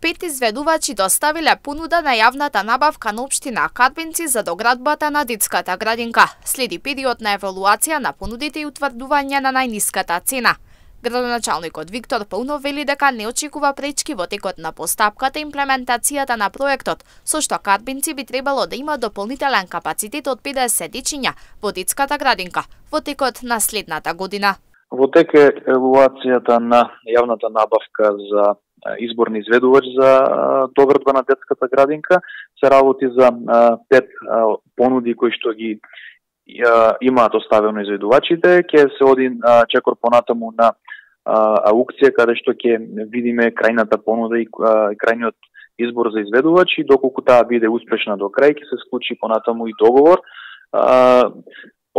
5 изведувачи доставиле понуда на јавната набавка на општина Карбинци за доградбата на детската градинка. Следи период на евалуација на понудите и утврдување на најниската цена. Градоначалникот Виктор Паунов вели дека не очекува пречки во текот на постапката и имплементацијата на проектот, со што Карбинци би требало да има дополнителен капацитет од 50 дечиња во детската градинка во текот на следната година. Во тек е евалуацијата на јавната набавка за изборни изведувач за доградба на детската градинка. Се работи за 5 понуди кои што ги имаат оставено изведувачите. Ќе се оди чекор понатаму на аукција каде што ќе видиме крајната понуда и крајниот избор за изведувачи. Доколку таа биде успешна до крај, ќе се склучи понатаму и договор.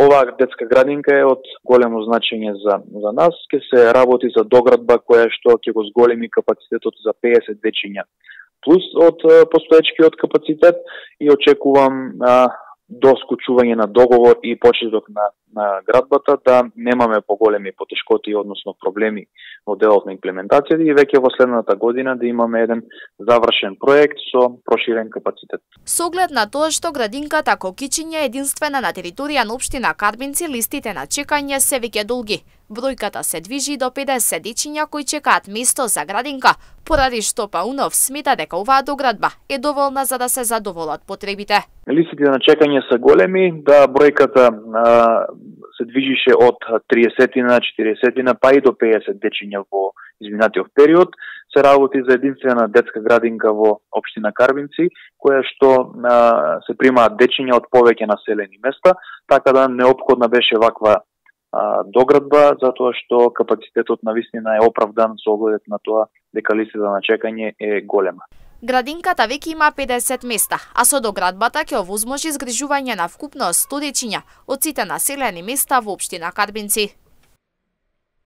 Оваа детска градинка е од големо значење за нас. Ќе се работи за доградба која што ќе го зголеми капацитетот за 50 дечиња. Плюс од постоечкиот капацитет и очекувам до склучување на договор и почеток на градбата да немаме поголеми потешкоти, односно проблеми во делот на имплементацијата и веќе во следната година да имаме еден завршен проект со проширен капацитет. Со оглед на тоа што градинката Кокичиња е единствена на територија на општина Карбинци, листите на чекање се веќе долги. Бројката се движи до 50 дечиња кои чекаат место за градинка, поради што Паунов смета дека оваа доградба е доволна за да се задоволат потребите. Листите на чекање се големи, да бројката се движише од 30 на 40 па и до 50 дечиња во изминатиот период. Се работи за единствена детска градинка во општина Карбинци, која што се примаат дечиња од повеќе населени места, така да неопходна беше ваква доградба, затоа што капацитетот на вистина е оправдан со оглед на тоа дека листата на чекање е голема. Градинката веќе има 50 места, а со доградбата ќе овозможи згрижување на вкупно 100 дечиња од сите населени места во општина Карбинци.